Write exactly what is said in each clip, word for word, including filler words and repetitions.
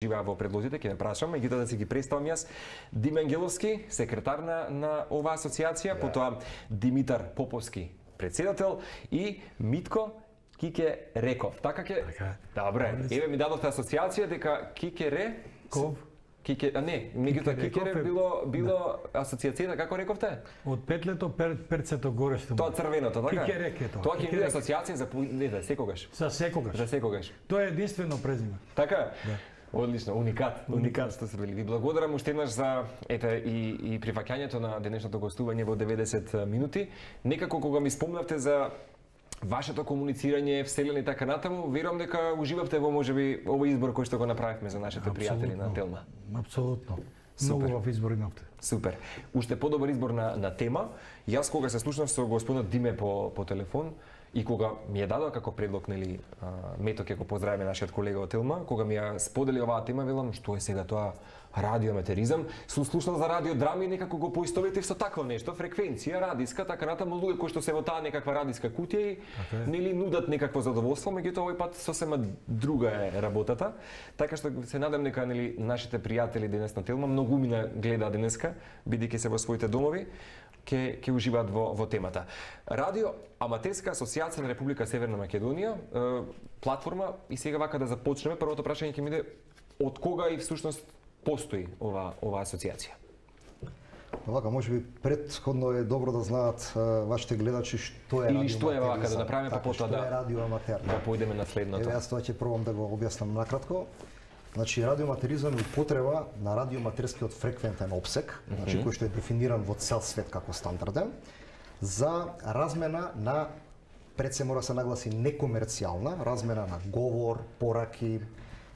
вклучиваа во предлозите, ќе ме прашам, меѓутоа да си ги представам јас. Диме Ангеловски, секретар на, на оваа асоциација, yeah. потоа Димитар Поповски, председател, и Митко Кике Реков. Така ќе... Добре, еве ми дадовте асоциација дека Кике Ре... Ков? Кике, а не, меѓутоа Кикере било било да. Асоциацијата, како рековте? Од петлето пер, перцето горе што. Тоа црвеното, така? Кикерек е тоа. Тоа ќе биде асоциација за не да секогаш. За секогаш. За секогаш. Тоа е единствено презиме. Така? Да. Одлично, уникат, уникат што се били. Ви благодарам уште еднаш за ете и и прифаќањето на денешното гостување во деветдесет минути. Некако кога ми спомнавте за вашето комуницирање, вселени така натаму, верувам дека уживавте во можеби овој избор кој што го направивме за нашите пријатели на Телма. Апсолутно. Многу убав избор имавте. Супер. Уште подобар избор на на тема. Јас кога се слушнав со господинот Диме по по телефон и кога ми ја дадоа како предлог, нели, Мето, ќе го поздравиме нашиот колега од Телма, кога ми ја сподели оваа тема, велам што е сега тоа радиоаматеризам, сум слушнал за радиодрами и некако го поистоветив со такво нешто, фреквенција, радиска, така натаму, луѓе кои што се во таа некаква радиска кутија и okay. нели нудат некакво задоволство, меѓутоа овој пат сосема друга е работата. Така што се надам дека нели нашите пријатели денес на Телма многу мина гледаат денеска, бидејќи се во своите домови, ќе ќе уживаат во во темата. Радио Аматерска асоциација на Република Северна Македонија, е, платформа, и сега вака да започнеме, првото прашање ќе ми биде од кога и всушност постои ова ова асоциација? Вака, може би предходно е добро да знаат а, вашите гледачи што е или радио што е вака да направиме па потоа да што е радиоаматер. Да појдеме на следното. Еве јас тоа ќе пробам да го објаснам накратко. Значи радиоаматеризам е употреба на радиоаматерскиот фреквентен опсек, mm -hmm. значи кој што е дефиниран во цел свет како стандарден, за размена на, пред се мора се нагласи, некомерцијална размена на говор, пораки,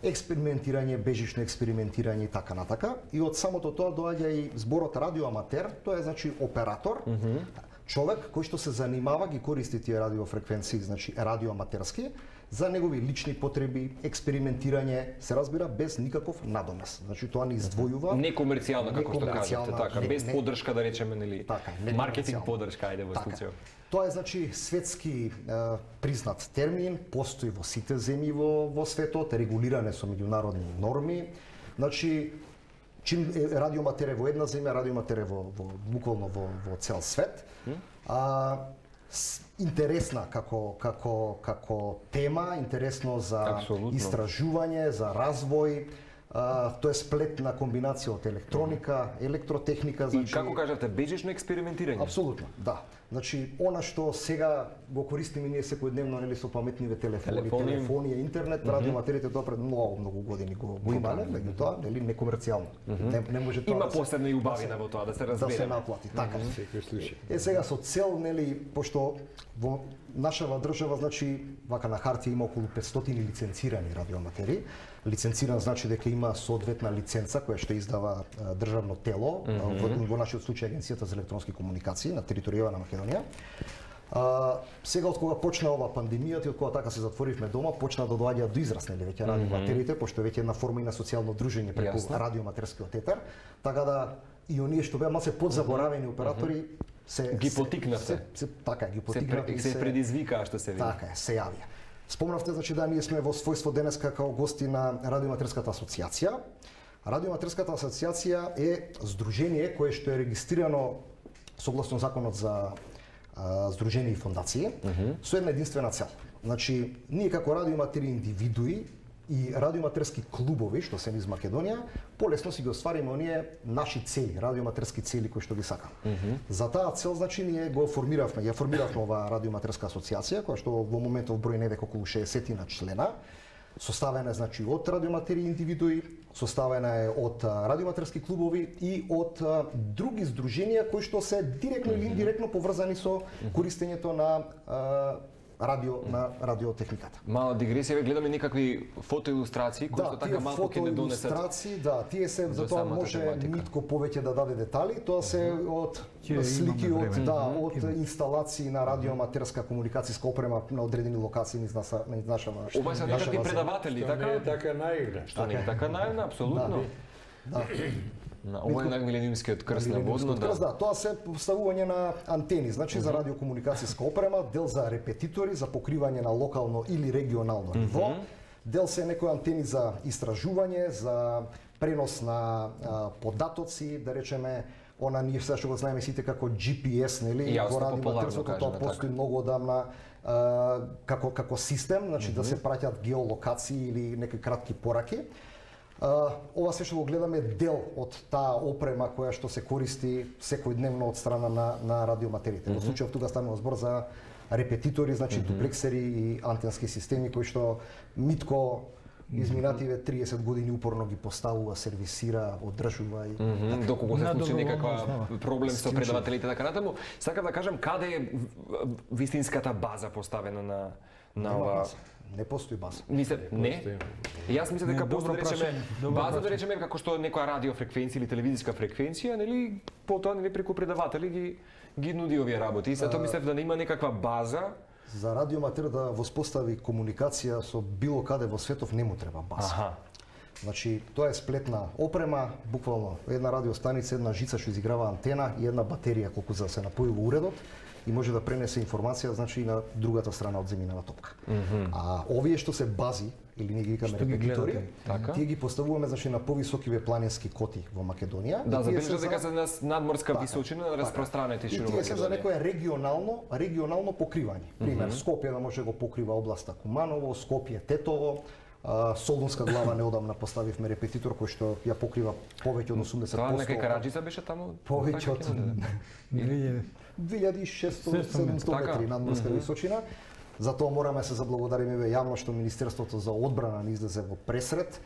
експериментирање, бежично експериментирање и така натака. И од самото тоа доаѓа и зборот радиоаматер, тоа е значи оператор, mm -hmm. човек кој што се занимава, ги користи тие радиофреквенции, значи радиоаматерски, за негови лични потреби, експериментирање, се разбира, без никаков надомес. Значи тоа не издвојува. Некомерцијално, како што кажете, така, не, без не, подршка, да речеме, нели, така, маркетинг подршка, ајде во случајот. Тоа е значи светски е, признат термин, постои во сите земји во во светот, регулиране со меѓународни норми. Значи чим радиоматер е во една земја, радиоматер е во во буквално во во цел свет. А интересна како како како тема, интересно за Абсолютно. Истражување, за развој. Uh, тоа е сплетна комбинација од електроника, електротехника, значи... И како кажете, бежично експериментирање? Апсолутно, да. Значи, она што сега го користиме ние секојдневно, нели, со паметниве телефони, телефони, телефонија, интернет, mm -hmm. радиоматерите тоа пред многу многу години го го имале, меѓутоа, нели, некомерцијално. Mm -hmm. не, не може тоа има да посебна и убавина во тоа да се разбере. Да се наплати, така. Mm -hmm. Е сега со цел, нели, пошто во нашава држава, значи, вака на хартија има околу петстотини лиценцирани радиоаматери. Лиценциран значи дека има соодветна лиценца која што издава а, државно тело, mm -hmm. во, во нашиот случај Агенцијата за електронски комуникации на територија на Македонија. А, сега од кога почна ова пандемијата и од кога така се затворивме дома, почна да доаѓаат до израз нели веќе радиоматерите, mm -hmm. пошто е веќе една форма и на социјално дружење преку Jasne. Радиоматерскиот етер, така да и оние што беа малце подзаборавени оператори mm -hmm. се ги потикнавте. Се, се, така ги потикнавте се, се, се предизвикаа што се види. Така е, се јавија. Спомнавте, значи, да ние сме во својство денеска као гости на Радиоматерската асоциација. Радиоматерската асоциација е здружение кое што е регистрирано согласно законот за а, здруженија и фондации, mm -hmm. со една единствена цел. Значи, ние како радиоматери индивидуи и радиоматерски клубови, што се низ Македонија, полесно си ги оствариме оние наши цели, радиоматерски цели кои што ги сакаме. Mm -hmm. За таа цел, значи, ние го формиравме, ја формиравме оваа радиоматерска асоциација, која што во моментов број невек околу шеесет члена, составена, значи, од радиоматери индивидуи, составена е од радиоматерски клубови и од а, други здруженија кои што се директно mm -hmm. или индиректно поврзани со користењето на а, радио на радиотехниката. Мала дигресија, гледаме некакви фотоилустрации кои да, што така малку ќе не донесат. Да, тие фотоилустрации, да, тие се за тоа може тематика. Нитко повеќе да даде детали, тоа се uh -huh. од Ке, слики од да, од uh -huh. инсталации на радиоаматерска комуникацијска опрема на одредени локации низ наша низ нашава. Ова се некакви предаватели, така? Не е така наигра. Што не е така наивна, апсолутно. Да. да. На ова е на милениумскиот крст на водно, да. Да, тоа се поставување на антени, значи uh -huh. за радиокомуникацијска опрема, дел за репетитори, за покривање на локално или регионално ниво, uh -huh. Дел се некои антени за истражување, за пренос на а, податоци, да речеме, она ние сега што го знаеме сите како Джи Пи Ес, нели, Јасно, во радиоматерството, тоа постои така. многу одамна а, како како систем, значи mm -hmm. да се праќаат геолокации или некои кратки пораки. А, ова се што го гледаме дел од таа опрема која што се користи секојдневно од страна на на радиоматерите. Mm -hmm. Во случајов тука станува збор за репетитори, значи mm -hmm. дуплексери и антенски системи кои што Митко изминативе триесет години упорно ги поставува, сервисира, одржува и mm -hmm. доколку се случи некаква основа. проблем со предавателите така натаму. Сакам да кажам каде е вистинската база поставена на на ова. Не постои база. Мисле, не. Јас мислам дека постои да речеме база да речеме како што некоја радиофреквенција или телевизиска фреквенција, нели, потоа нели преку предаватели ги ги нуди овие работи. И сето мислев да нема некаква база за радиоматер да воспостави комуникација со било каде во светов не му треба база. Аха. Значи, тоа е сплетна опрема, буквално една радиостаница, една жица што изиграва антена и една батерија колку за да се напојува уредот и може да пренесе информација, значи и на другата страна од земјинава топка. Mm -hmm. А овие што се бази или ние ги викаме репетитори, така? Тие ги поставуваме значи на повисокиве планински коти во Македонија. Да, забележа дека се на надморска височина на распространети широко Македонија. И тие се за некое регионално, регионално покривање. Пример, mm -hmm. Скопје да може да го покрива областа Куманово, Скопје Тетово, Солунска глава неодамна поставивме репетитор кој што ја покрива повеќе од осумдесет проценти. Тоа некај Караџица беше таму? Повеќе од две илјади и шестстотини седумстотини метри надморска mm -hmm. височина. Затоа мораме да се заблагодариме јавно што Министерството за одбрана ни излезе во пресред,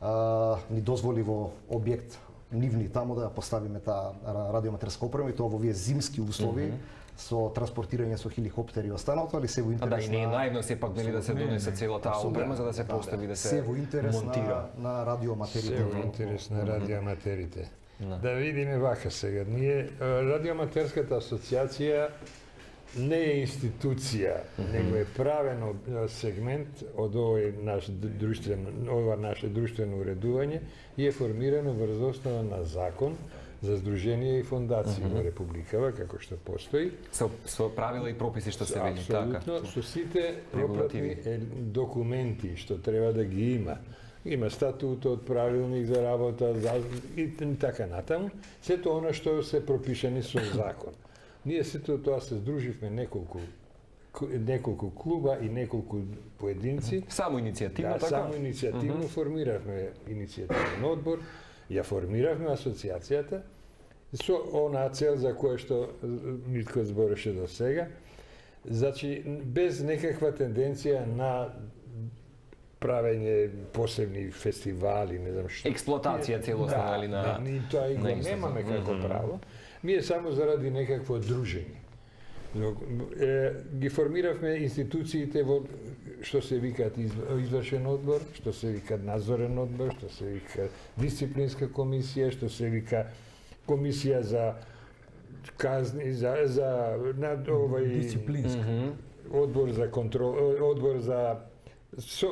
а, ни дозволи во објект нивни таму да ја поставиме таа радиоматерска опрема и тоа во овие зимски услови. Mm -hmm. со транспортирање со хеликоптери и останалото, али се во интерес на... А да, и не е наивно сепак нели да се донесе цела таа опрема за да се постави, да се во интерес монтира на, на радиоматерите. Се во интерес на радиоматерите. Да видиме вака сега. Ние Радиоматерската асоциација не е институција, него е правен сегмент од овој наш друштвен, ова наше друштвено уредување и е формирано врз основа на закон за здруженија и фондации во Републикава, како што постои. Со, со правила и прописи што се вели, така. Апсолутно, со сите пропратни документи што треба да ги има. Има статутот, правилник за работа за, и така натаму. Сето она што се пропишани со закон. Ние сето тоа се здруживме неколку неколку клуба и неколку поединци. Само иницијативно, да, така? Само иницијативно uh -huh. формиравме иницијативен одбор, ја формиравме асоциацијата со онаа цел за која што Митко збореше до сега. Значи, без некаква тенденција на правење посебни фестивали, не знам што. Експлоатација целосна, да, али на... Да, ни тоа и го немаме како mm -hmm. право. Ми е само заради некакво дружење. Е, ги формиравме институциите во што се викаат извршен одбор, што се вика надзорен одбор, што се вика дисциплинска комисија, што се вика комисија за казни, за за над овој дисциплинска. Mm -hmm. Одбор за контрол, одбор за со,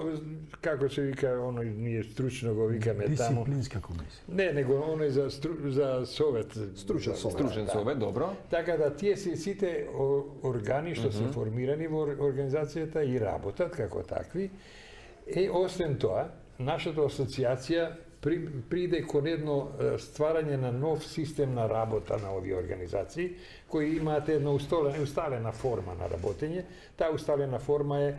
како се вика, оној ние стручно го викаме таму. Дисциплинска комисија. Не, него оној за стру, за совет, стручен совет. Стручен да. совет, добро. Така да тие се сите органи што mm -hmm. се формирани во организацијата и работат како такви. Е освен тоа, нашата асоциација при, приде кон едно стварање на нов систем на работа на овие организации кои имаат една усталена, усталена форма на работење. Таа усталена форма е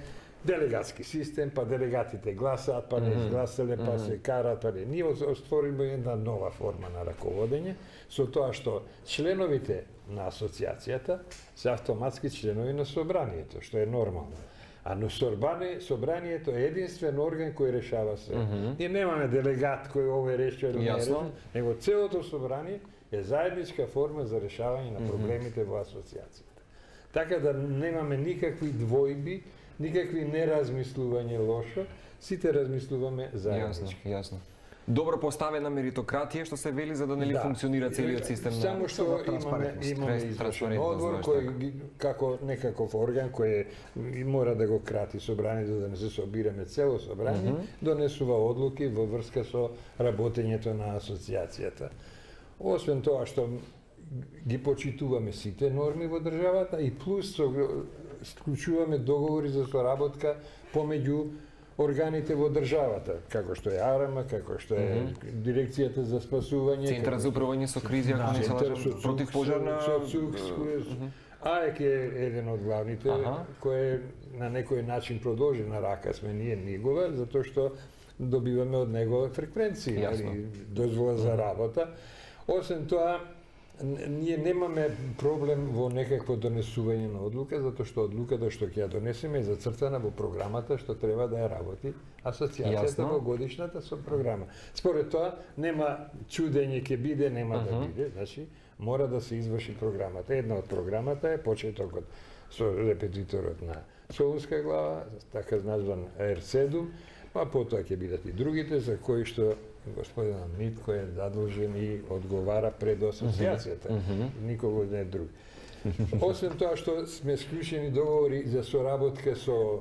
делегатски систем, па делегатите гласаат, па не изгласале, па mm -hmm. се карат, па не. Ние отвориме една нова форма на раководење, со тоа што членовите на асоциацијата се автоматски членови на собранието, што е нормално. А но собрание, собранието е единствен орган кој решава се. Mm -hmm. Ние немаме делегат кој овој решува или не решува, него целото собрание е заедничка форма за решавање на проблемите mm -hmm. во асоциацијата. Така да немаме никакви двојби, никакви неразмислување лошо, сите размислуваме заеднички. Јасно, јасно. Добро поставена меритократија што се вели за да нели да. функционира целиот систем. Само што имаме имаме извршен одбор кој како некаков орган кој мора да го крати собранието за да не се собираме цело собрание, mm -hmm. донесува одлуки во врска со работењето на асоциацијата. Освен тоа што ги почитуваме сите норми во државата и плюс со склучуваме договори за соработка помеѓу органите во државата, како што е АРМА, како што е Дирекцијата за спасување, Центарот за управување со кризи, ако не се лажам, против пожарна. АЕК е еден од главните, кој на некој начин продолжена рака сме ние нигова, затоа што добиваме од него фреквенции, дозвола за работа. Освен тоа, ние немаме проблем во некакво донесување на одлука, затоа што одлуката што ќе ја донесеме е зацртана во програмата што треба да ја работи асоциацијата во годишната со програма. Според тоа, нема чудење ќе биде, нема да биде, значи мора да се изврши програмата. Една од програмата е почетокот со репетиторот на Солунска глава, така назван Ер седум, па потоа ќе бидат и другите за кои што господинот Митко е задолжен и одговара пред асоциацијата, mm -hmm. никого не друг. Освен тоа што сме склучени договори за соработка со,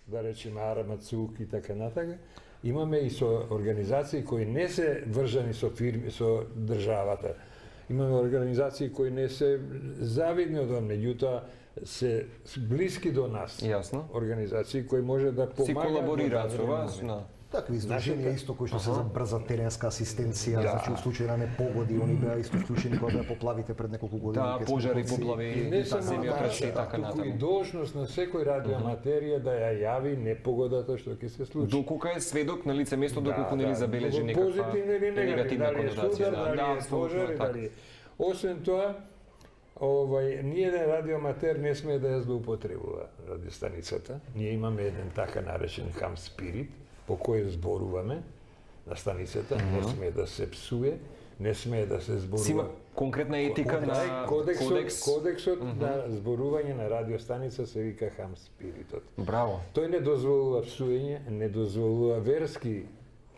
да речеме, АРМА, ЦУК и така натака, имаме и со организации кои не се врзани со фирми, со државата. Имаме организации кои не се завидни од он, меѓутоа се блиски до нас. Јасно. Организации кои може да помагаат. Си колаборираат со вас, на Такви издрженија исто кои што се за брза теренска асистенција, да. Значи во случај на непогоди, они беа исто вклучени кога беа поплавите пред неколку години. Да, пожари, поплави, и не само земјотреси и така натаму. Туку и должност на секој радиоаматерија да ја јави непогодата што ќе се случи. Доколку е сведок на лице место, доколку да, нели да, забележи некаква позитивна или негативна конотација. Да, да, пожари, дали. Освен тоа, Овај, ниеден радиоаматер не смее да ја злоупотребува радиостаницата. Ние имаме еден така наречен хам спирит, по кој зборуваме на станицата, mm -hmm. не смее да се псуе, не смее да се зборува. Сима конкретна етика на кодексот, кодекс. Кодексот mm -hmm. на зборување на радиостаница се вика хам спиритот. Браво. Тој не дозволува псуење, не дозволува верски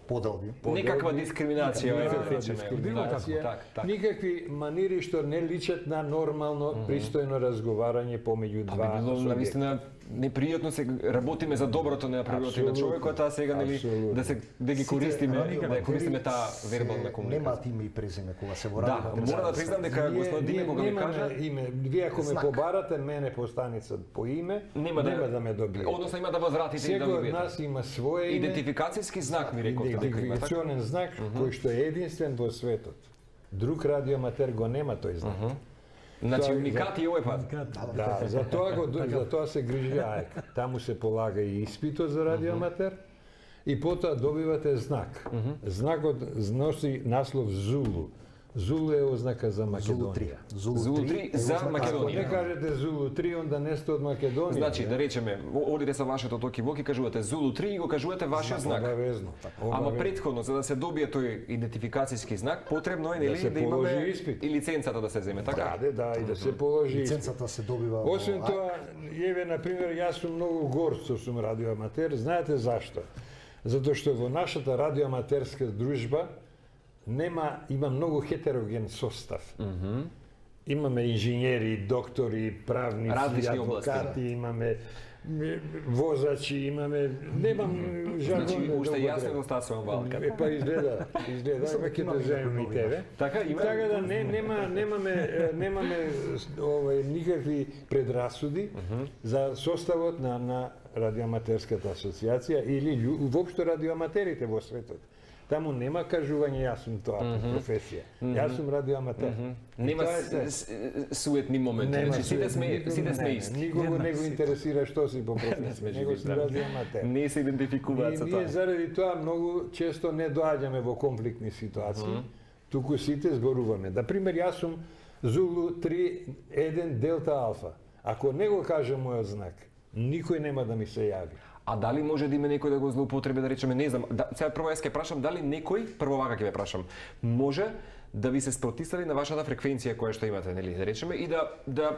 поделби. Некаква дискриминација, никаква дискриминација, никакви манири што не личат на нормално, mm -hmm. пристојно разговарање помеѓу два субјекта. Би било навистина непријатно се работиме за доброто на природата на човекот, а сега нели да се да ги користиме, да ја користиме таа вербална комуникација. Немаат име и презиме кога се во радио. Да, мора да признам дека господин Диме кога ми кажа име, вие ако ме побарате мене по станица по име, нема да, да ме добиете. Односно има да возвратите и да добиете. Секој од нас има своје име. Идентификацијски знак ми рековте дека има така. Идентификационен знак кој што е единствен во светот. Друг радиоаматер го нема тој знак. Значи уникат и овој пат. Да, за тоа го за тоа се грижи АЕК. Таму се полага и испитот за радиоаматер и потоа добивате знак. Знакот носи наслов Зулу. Зулу е ознака за Македонија. Зулу три за Македонија. Не кажете Зулу три, онда не сте од Македонија. Значи, да речеме, одите со вашето токи-воки, кажувате Зулу три и го кажувате вашиот знак. Обавезно. Ама претходно, за да се добие тој идентификацијски знак, потребно е нели да имаме и лиценцата да се земе, така? Да, да, и да се положи. Лиценцата се добива. Освен тоа, еве на пример, јас сум многу горд што сум радиоаматер, знаете зашто? Затоа што во нашата радиоаматерска дружба нема, има многу хетероген состав. Mm -hmm. Имаме инженери, доктори, правници, различни адвокати, области, да. Имаме возачи, имаме, немам жаргон. Значи, уште јасно достасувам валка. Е, па изгледа, изгледа, ќе те земем и тебе. Така, има. Така да не, нема, немаме, немаме овај, никакви предрасуди mm -hmm. за составот на, на радиоаматерската асоциација или воопшто радиоаматерите во светот. Таму нема кажување јас сум тоа mm -hmm. професија. Mm -hmm. Јас сум радиоаматер. Mm -hmm. Нема суетни моменти. Значи сите сме сите сме исти. Никого не го интересира што си по професија. Него си радиоаматер. Не се идентификуваат со тоа. Ние заради тоа многу често не доаѓаме во конфликтни ситуации. Mm -hmm. Туку сите зборуваме. Да пример јас сум Зулу три еден Делта Алфа. Ако не го кажа мојот знак, никој нема да ми се јави. А дали може да има некој да го злоупотреби, да речеме, не знам, да, сега прво јас ќе прашам дали некој, прво вака ќе ве прашам, може да ви се спротистави на вашата фреквенција која што имате, нели, да речеме, и да да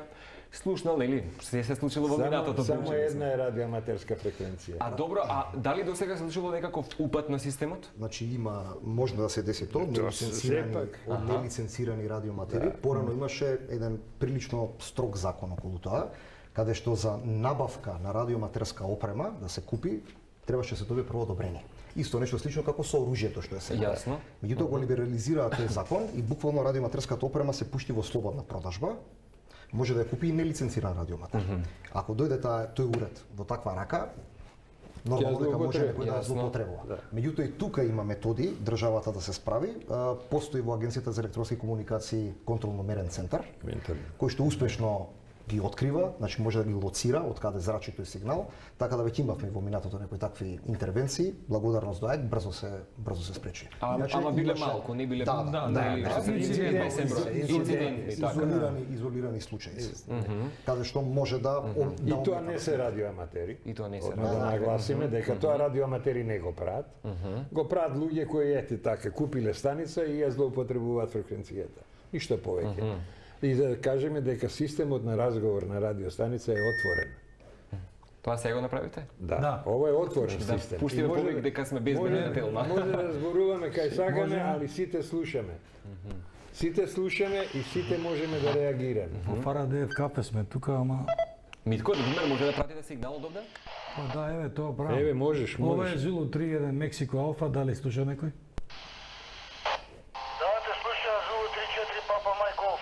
слушнал, нели, се се случило во минатото. Само една е радиоаматерска фреквенција. А добро, а дали до сега се случило некаков упат на системот? Значи има, може да се деси тоа, нелиценцирани, од нелиценцирани радиоаматери. Да. Порано имаше еден прилично строг закон околу тоа, каде што за набавка на радиоаматерска опрема да се купи, требаше се добие прво одобрение. Исто нешто слично како со оружјето што е сега. Јасно. Меѓутоа го либерализираа тој закон и буквално радиоаматерската опрема се пушти во слободна продажба. Може да ја купи и нелиценциран радиоаматер. Mm -hmm. Ако дојде таа тој уред во таква рака, нормално дека може злоупотреби, некој да ја јасно. злоупотребува. Да. Меѓутоа и тука има методи државата да се справи. А, Постои во Агенцијата за електронски комуникации контролно-мерен центар, Ментално. кој што успешно ги открива, значи може да ги лоцира од каде зрачи тој сигнал, така да веќе имавме во минатото некои такви интервенции, благодарност до АЕК брзо се брзо се спречи. А, Иначе ама биле имаше- малку, не биле Да, да, да, да, или да, што се инциденти, инциденти, инциденти, инциденти, така. изолирани изолирани случаи. Каде што може да ом- да И тоа омета. не се радиоаматери. И тоа не се Одма да радиоаматери. нагласиме дека тоа радиоаматери не го прават. Го прават луѓе кои ете така купиле станица и ја злоупотребуваат фреквенцијата. Ништо повеќе. И да кажеме дека системот на разговор на радиостаница е отворен. Тоа сега го направите? Да, Да. ова е отворен Да систем. пуштиме И може повеќе да- дека сме безбедни може- на Телма. Може да зборуваме кај сакаме, Можеме. али сите слушаме. Сите слушаме и сите можеме да реагираме. Во Фарадеев кафе сме тука, ама Митко, Димер, може да пратите сигнал од овде? па да, еве тоа правам. Еве можеш, Ова е можеш. Зулу три еден Мексико Алфа, дали слуша некој? Да, те слуша Зулу три четири Папа Мај Голф.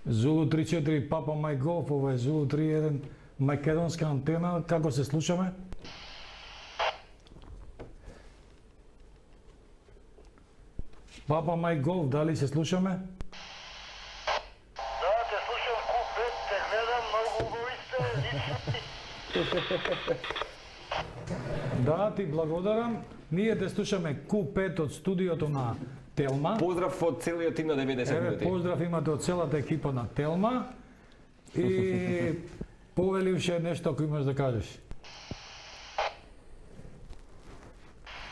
Зулу три четири Папа Мај Голф, ова е Зулу три еден македонска антена, како се слушаме? Папа Мај Голф, дали се слушаме? Да, те слушам Ку пет, те гледам, многу убави сте, лични. Да, ти благодарам. Ние те слушаме Ку пет од студиото на Телма. Поздрав од целиот тим на деветдесет Еве, минути. поздрав имате од целата екипа на Телма. И повеливше нешто ако имаш да кажеш.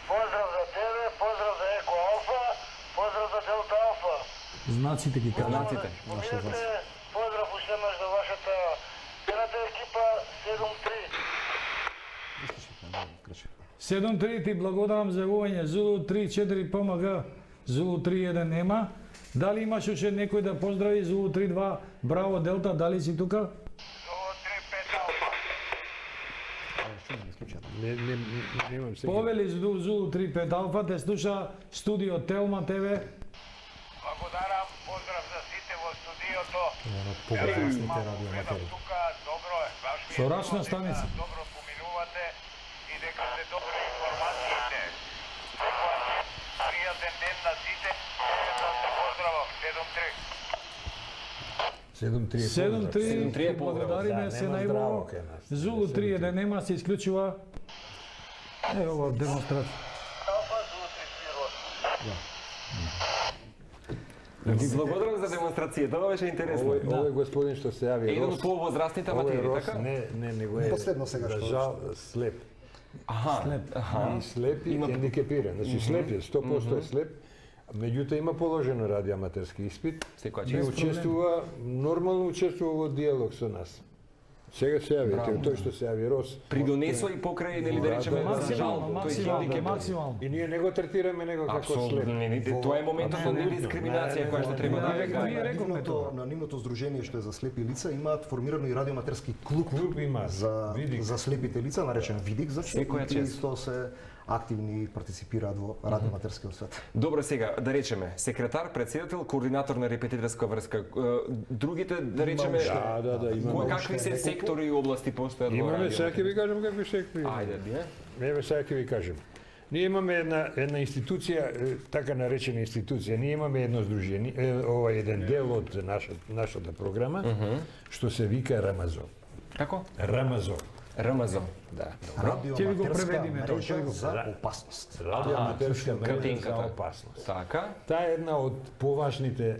Поздрав за тебе, поздрав за Еко Алфа, поздрав за Делта Алфа. Знаците ги кажа. Знаците. Споминате, поздрав уште еднаш за вашата едната екипа седум три. седум три ти благодарам за јавување. Зулу три четири П М Г, Зулу три еден нема. Дали имаш уште некој да поздрави Зулу три два? Браво Делта, дали си тука? Зулу три пет Алфа. Не, не, не, немам сега. Повели Зулу Зулу три пет Алфа, те слуша студио Телма ТВ. Благодарам, поздрав за сите во студиото. Поголемите Малку радиоаматери. гледам тука, добро е. Баш ми е Со рачна убаво дека станица. Добро поминувате и дека сте добри информациите. Секоја пријатен ден на сите. Да се поздравам, седум три. седум три е седум три седум три е поздрав. благодариме Да, се нема најубаво. здраво кај нас. Зулу три еден нема, се исклучува. Е, ова демонстрација. Алфа, Зулу три три Ви благодарам за демонстрацијата, ова беше интересно. Овој, овој господин што се јави Еден Рос. од повозрастните Овој аматери, Рос така? не, не, него е Последно сега за што- жал слеп. Аха, аха. И слеп и Има- хендикепиран. Значи слеп е, сто проценти е слеп. Меѓутоа има положено радиоаматерски испит Секоја и чест. учествува, нормално учествува во диалог со нас. Сега се јави, Браво. тој што се јави Рос. Придонесо и покрај, нели да Да, речеме, да, за жал, Максимално, тој максимално, хендикеп. максимално. И ние не го третираме него како слеп. Апсолутно, не, не, тоа е моментот на Апсолутно. недискриминација Не, која не, што не, треба не, да не, ја не, гај. ние На рековме нивното, тоа. на нивното здружение што е за слепи лица имаат формирано и радиоаматерски клуб, Клуб има, за Видик. за слепите лица, наречен Видик, за Секоја што чест. исто се активни и партиципираат во радиоаматерскиот свет. Добро, сега, да речеме, секретар, председател, координатор на репетиторска врска. Е, Другите, да речеме, Да, да, да, имаме кои какви се неколку. сектори и области постојат во Имаме, радио? сега ќе ви кажам какви секви. Ајде, не? Еве сега ќе ви кажем. Ние имаме една една институција, е, така наречена институција. Ние имаме едно здружение, е, ова е еден дел од нашата нашата програма, што се вика Рамазон. Како? Рамазон. РМЗ. Да. Ќе ви го Радиоаматерска преведиме тоа, ќе ви мрежа го- за опасност. Радиоаматерска мрежа за кратинката. опасност. Така. Таа е една од поважните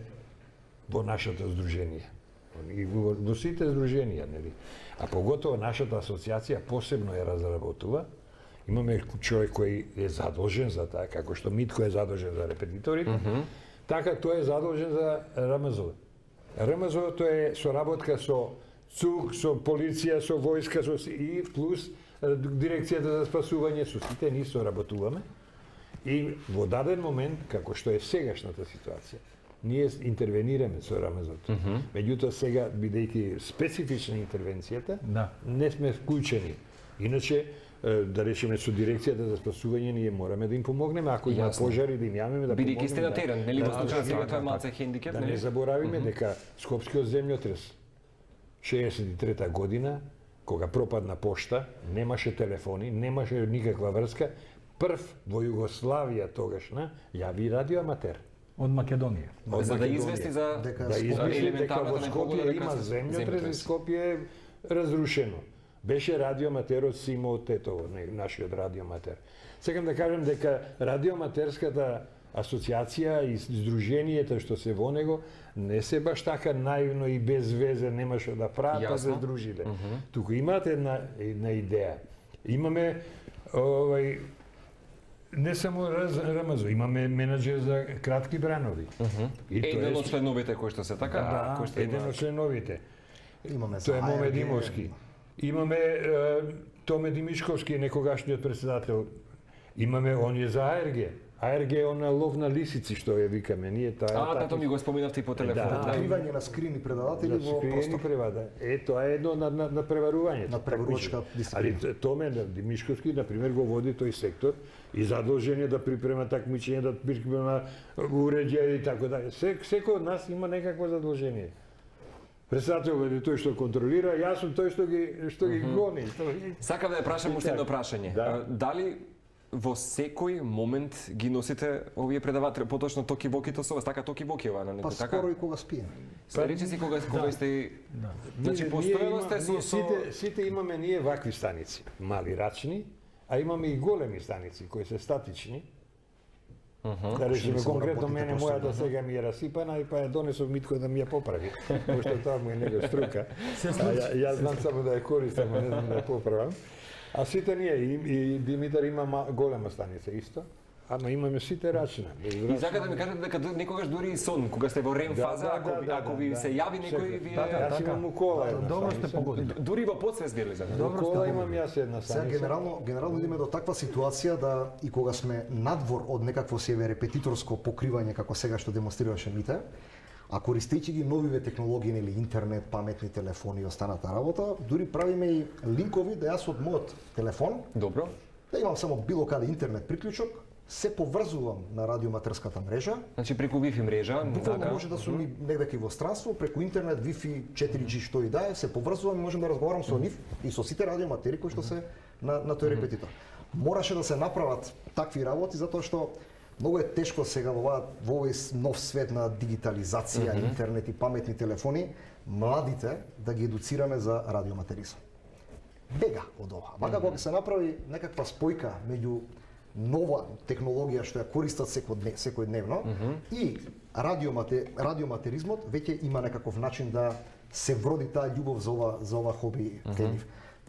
во нашето здружение. И во, во сите здруженија, нели? А поготово нашата асоциација посебно ја разработува. Имаме човек кој е задолжен за таа, како што Митко е задолжен за репетиторите, mm -hmm. така тој е задолжен за РМЗ. РМЗ тоа е соработка со ЦУК, со полиција, со војска, со си- и плюс е, дирекцијата за спасување, со сите ние соработуваме. И во даден момент, како што е сегашната ситуација, ние интервенираме со РМЗ-то. Mm -hmm. Меѓутоа сега, бидејќи специфична интервенцијата, Да. не сме вклучени. Иначе, е, да речеме со дирекцијата за спасување, ние мораме да им помогнеме, ако има Јасно. пожари, да им јавиме да Бидејќи сте на помогнеме, терен, нели, во да, случај да, сега да, тоа е да, малце хендикеп, да нели? не заборавиме дека Скопскиот земјотрес шеесет и трета година кога пропадна пошта, немаше телефони, немаше никаква врска, прв во Југославија тогашна јави радиоаматер. Од Македонија. Од За да Македонија. извести за Дека Да извести дека елементарната во непогода, Скопје дека има се- земјотрес и земјотрес. Скопје е разрушено. Беше радиоаматерот Симо Тетово, нашиот радиоаматер. Сакам да кажам дека радиоаматерската асоциација и здруженијата што се во него не се баш така наивно и без везе немаше да прават, па се Јасно. здружиле. Туку имате една една идеја. Имаме овај не само раз, РМЗО, имаме менаџер за кратки бранови. И тоа Еден е од членовите кои што се така, да, кои што еден има од членовите. имаме за Тоа е А Р Г, Моме Димовски. Имаме е, Томе Димишковски, некогашниот председател. Имаме он е за А Р Г. А Р Г е она лов на лисици што ја викаме ние, тоа е А, такви- тато ми го споминавте и по телефон. Да, Да, Откривање на скрини предаватели за во скриени простор. превада. Е, тоа е едно на, на, на преварување. На преварувачка дисциплина. Али Томе Димишковски, на пример, го води тој сектор и задолжен е да припрема такмичење, да припрема уреđаја и така дале. Се, секој од нас има некакво задолжение. Председател е тој што контролира, јас сум тој што ги што ги гони. Што ги... Сакам да ја прашам уште едно прашање. Да. А, Дали во секој момент ги носите овие предаватели, поточно Токи Вокито со вас, така Токи Вокиова на Па некој така? скоро и кога спием. Се рече си кога кога сте Значи Ние- постојано ние сте има- со ние со сите сите имаме ние вакви станици, мали рачни, а имаме и големи станици кои се статични. Да речеме само конкретно работите мене просто, мојата сега ми е расипана и па ја донесов Митко да ми ја поправи. Пошто тоа му е него струка. А ја, ја знам само да ја користам, а не знам да ја поправам. А сите ние и, и Димитар има ма- голема станица исто. Ама имаме сите рачна. И сакате да ми кажете дека ду- некогаш дури и сон, кога сте во рем Да, фаза, да, ако да, ви- да, ако ви да. се јави некој, Секој. вие Да, да, Јас така. имам у кола една Добро сте станица. погодили. дури во подсвест били за Во кола имам јас една Сега станица. генерално генерално идеме до таква ситуација да и кога сме надвор од некакво себе репетиторско покривање како сега што демонстрираше Мите, а користејќи ги новиве технологии или интернет, паметни телефони и останата работа, дури правиме и линкови да јас од мојот телефон Добро. да имам само било каде интернет приклучок, се поврзувам на радиоматерската мрежа. Значи преку Wi-Fi мрежа, Буквално така. може да сум и негде во странство, преку интернет, Wi-Fi, четири џи што и да е, се поврзувам и можам да разговарам со нив и со сите радиоматери кои што се на, на тој репетитор. Мораше да се направат такви работи затоа што многу е тешко сега во оваа во овој нов свет на дигитализација, mm -hmm. интернет и паметни телефони, младите да ги едуцираме за радиоматеризам. Бега од ова. Вака кога се направи некаква спојка меѓу нова технологија што ја користат секојдневно, секојдневно mm -hmm. и радиомате, радиоматеризмот веќе има некаков начин да се вроди таа љубов за ова за ова хоби mm -hmm.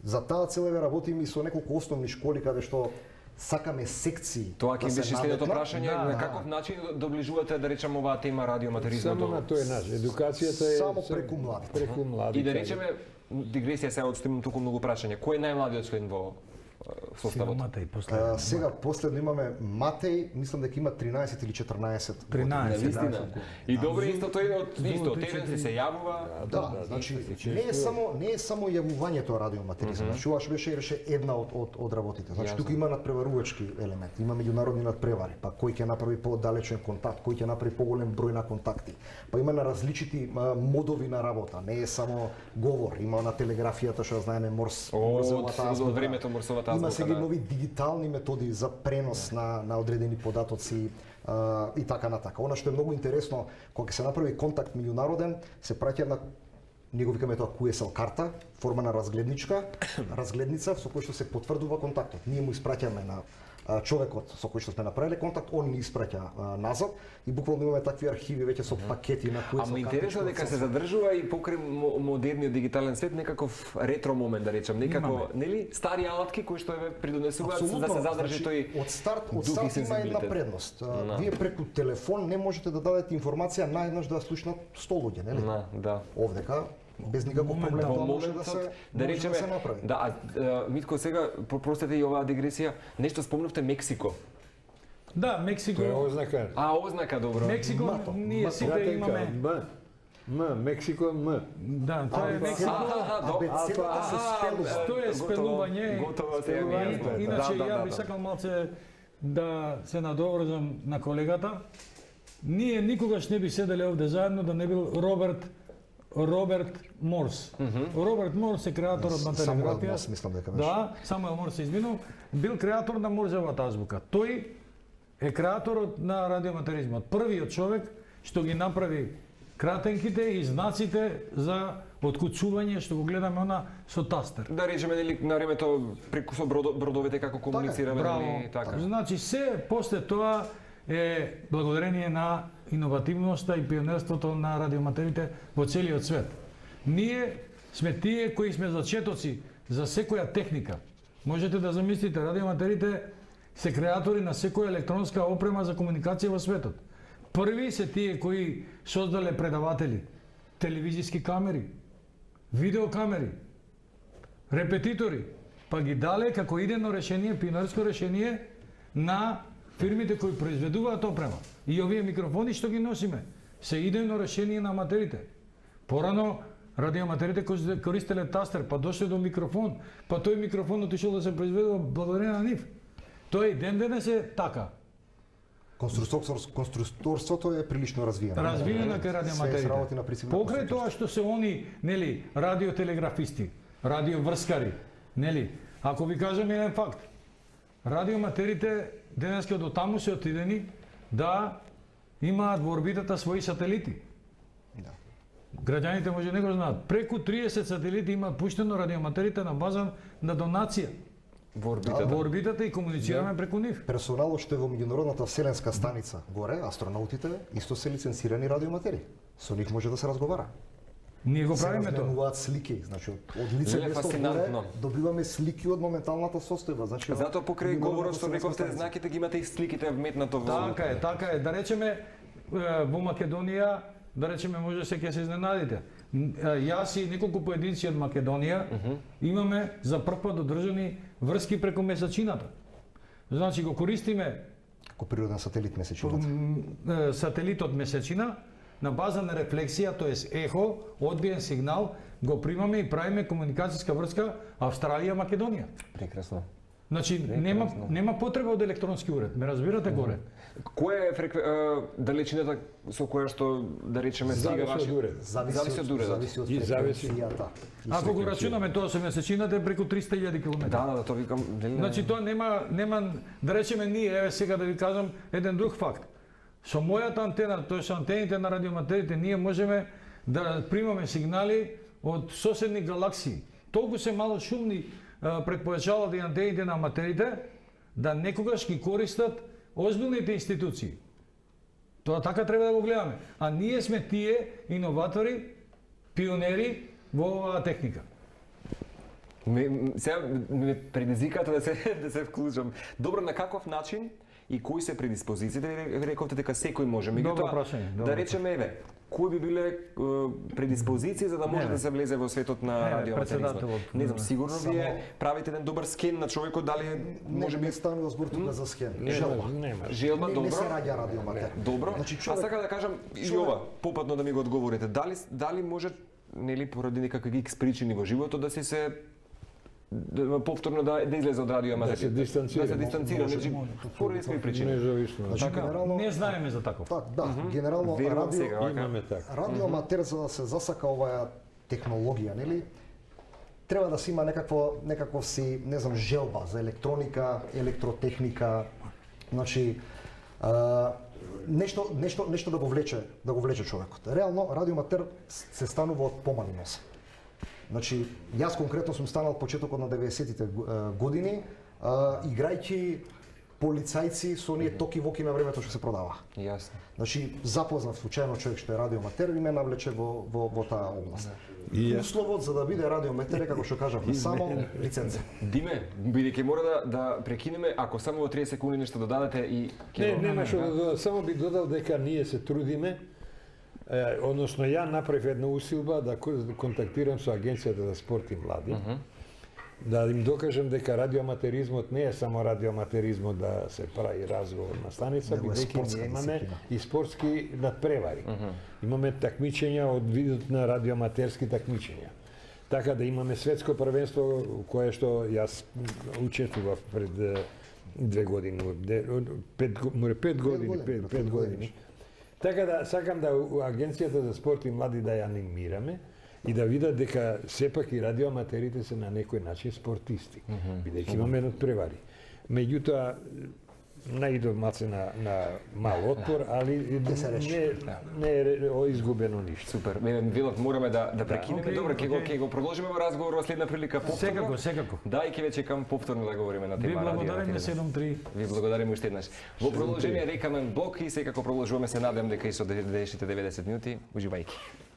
За таа цел еве работиме и со неколку основни школи каде што сакаме секции. Тоа ќе да се беше следното наметнат. прашање, Да, на да. каков начин доближувате да речеме оваа тема радиоматеризмот Само до- на тој начин. Едукацијата е Само преку младите. Преку младите. И да речеме дигресија сега одстимам туку многу прашање. Кој е најмладиот член во е, составот? Силомата и после. А, сега последно имаме Матеј, мислам дека има тринаесет или четрнаесет. тринаесет, Навистина. да. И добро исто тој од Зло, исто три, терен четири. се јавува. Да, значи не е само не е само јавувањето радиоматеризам. Значи ова што беше реше една од од од работите. Значи Јасно. тука има надпреварувачки елемент, има меѓународни надпревари, па кој ќе направи подалечен контакт, кој ќе направи поголем број на контакти. Па има на различити а, модови на работа, не е само говор, има на телеграфијата што знаеме Морс, Од- Морзовата од азбука. времето Морсовата Има азбука, сега да. нови дигитални методи за пренос на на одредени податоци а, и така натака. Она што е многу интересно, кога се направи контакт меѓународен, се праќа една ние го викаме тоа Q S L карта, форма на разгледничка, разгледница со која што се потврдува контактот. Ние му испраќаме на а, човекот со кој што сме направиле контакт, он ни испраќа а, назад и буквално имаме такви архиви веќе со пакети на Q S L Ама интересно картичка дека со- се задржува и покрај мо- модерниот дигитален свет некаков ретро момент да речем, некако, Имаме. нели, стари алатки кои што еве придонесуваат да се задржи значи, тој од старт од дух и старт има една сензибилитет. предност. А, Да. Вие преку телефон не можете да дадете информација наеднаш да ја слушнат сто луѓе, нели? На, да. Овдека без никаков проблем Во тоа може да моментот, се да може речеме, да се направи. да, а, а, Митко сега простете и оваа дигресија, нешто спомнавте Мексико. Да, Мексико. Тоа е ознака. А, ознака добро. Мексико, Мато. ние Мато. сите имаме. М. М. Мексико М. Да, тоа е Алфа. Мексико. Аха, до- Абецедата се спелува. Тоа е Готово- спелување. Готово се ја ми И- јасно. Иначе Да, да, ја да, би да. сакал малце да се надоврзам на колегата. Ние никогаш не би седеле овде заедно да не бил Роберт Роберт Морс. Роберт Морс е креаторот на Самуел телеграфија. Морс, мислам дека беше. Да, Самуел Морс се изминул, бил креатор на Морзевата азбука. Тој е креаторот на радиоаматеризмот. Првиот човек што ги направи кратенките и знаците за откуцување, што го гледаме она со тастер. Да речеме нели на времето преку со бродо, бродовите како комуницираме, Браво. нели така. Значи се после тоа е благодарение на иновативноста и пионерството на радиоматерите во целиот свет. Ние сме тие кои сме зачетоци за секоја техника. Можете да замислите, радиоматерите се креатори на секоја електронска опрема за комуникација во светот. Први се тие кои создале предаватели, телевизиски камери, видеокамери, репетитори, па ги дале како идено решение, пионерско решение на фирмите кои произведуваат опрема. И овие микрофони што ги носиме се идејно решение на аматерите. Порано радиоаматерите користеле тастер, па дошле до микрофон, па тој микрофон отишол да се произведува благодарение на нив. Тој и ден денес е така. Конструкторството е прилично развиено. Развиено кај радиоматерите. Покрај Покрај тоа што се они, нели, радиотелеграфисти, радиоврскари, нели, ако ви кажам еден факт, радиоматерите денеска до таму се отидени да имаат во орбитата своји сателити. Да. Граѓаните може не го знаат. Преку триесет сателити имаат пуштено радиоматерите на база на донација. Во орбитата. Во орбитата и комуницираме Да. преку нив. Персоналот што е во меѓународната вселенска станица горе, астронаутите, исто се лиценцирани радиоматери. Со нив може да се разговара. Ние го Се правиме тоа. разменуваат слики, значи од, од лице Леле, место горе фасцинантно. добиваме слики од моменталната состојба, значи Затоа покрај меѓународната говорот што вселенска рековте станица. знаките ги имате и сликите вметнато во. Така е, така е. Да речеме е, во Македонија, да речеме може се ќе се изненадите. Н- е, Јас и неколку поединци од Македонија имаме за прв пат одржани врски преку месечината. Значи го користиме Како природен сателит месечината. м, е, сателитот месечина на база на рефлексија, тоест ехо, одбиен сигнал, го примаме и правиме комуникацијска врска Австралија-Македонија. Прекрасно. Значи нема нема потреба од електронски уред, ме разбирате горе. Која е фрекве... е, далечината со која што да речеме стига Зависи од ваши уред. Зависи од уредот. Зависи од И зависи- фреквенцијата. И Ако го фреквенцијата. рачунаме тоа со месечината е преку триста илјади километри. Да, да, да, тоа викам, нели? Значи тоа нема нема да речеме ние, еве сега да ви кажам еден друг факт. Со мојата антена, тоа со антените на радиоматерите, ние можеме да примаме сигнали од соседни галаксии. Толку се мало шумни а, предпојачалата и антените на аматерите да некогаш ги користат озбилните институции. Тоа така треба да го гледаме. А ние сме тие иноватори, пионери во оваа техника. Ме, м, сега ме предизвикате да се да се вклучам. Добро, на каков начин и кои се предиспозициите? Ви рековте дека секој може. Добро Меѓутоа, прашање, добро да речеме еве, кои би биле е, предиспозиции за да може Не, да се влезе во светот на Не, радиоматеризмот? председателот, Не знам, не. сигурно Само- вие правите еден добар скен на човекот, дали е, Може може би би станува збор тука за схем. Нема, Желба. нема. желба, Не, добро. не се раѓа радиоматер. Добро. Значи, А човек- сака да кажам и човек- ова, попатно да ми го одговорите. Дали дали може нели поради некакви икс причини во животот да си се да, повторно да, да излезе од радиоматерите? Да се дистанцира. Да се дистанцира, Може, значи може. поради своји причини. Независно. Значи, Така, генерално- не знаеме за таков. Так, да, генерално Верувам радио, сега, вака. Имаме така. радиоматер за да се засака оваа технологија, нели? Треба да се има некакво некакво си, не знам, желба за електроника, електротехника, значи а, нешто нешто нешто да го влече, да го влече човекот. Реално радиоматер се станува од помали носа. Значи, јас конкретно сум станал почетокот на деветдесетите години, а, играјќи полицајци со оние токи-воки на времето што се продава. Јасно. Значи, запознав случајно човек што е радиоматер и ме навлече во, во, во таа област. И јас. Условот за да биде радиоматер е, како што кажавме, само лиценца. Диме, бидејќи мора да да прекинеме, ако само во тридесет секунди нешто додадете и Не, ќе нема што да додам, само би додал дека ние се трудиме, е, односно ја направив една усилба да ко- да контактирам со Агенцијата за спорт и млади, да им докажам дека радиоматеризмот не е само радиоматеризмот да се прави разговор на станица, Него е бидејќи спортска ние имаме дисциплина. и спортски надпревари. Имаме такмичења од видот на радиоматерски такмичења. Така да имаме светско првенство кое што јас учествував пред е, две години, де- пет, го- море пет години, години, пет, пред пет пет години. години. Така да сакам да у Агенцијата за спорт и млади да ја анимираме и да видат дека сепак и радиоаматерите се на некој начин спортисти, бидејќи имаме надпревари. Меѓутоа, наидов малце на, на мал отпор, али не, не е изгубено ништо. Супер. Вилот, мораме да да прекинеме. окей, Добро, ќе го окей. ќе го продолжиме во разговор во следна прилика повторно. Секако, секако. Да, и ќе веќе кам повторно да говориме на Ви тема радио. благодариме седум три. Ви благодариме уште еднаш. Во продолжение рекамен блок и секако продолжуваме, се надевам дека и со следешните деветдесет минути. Уживајќи.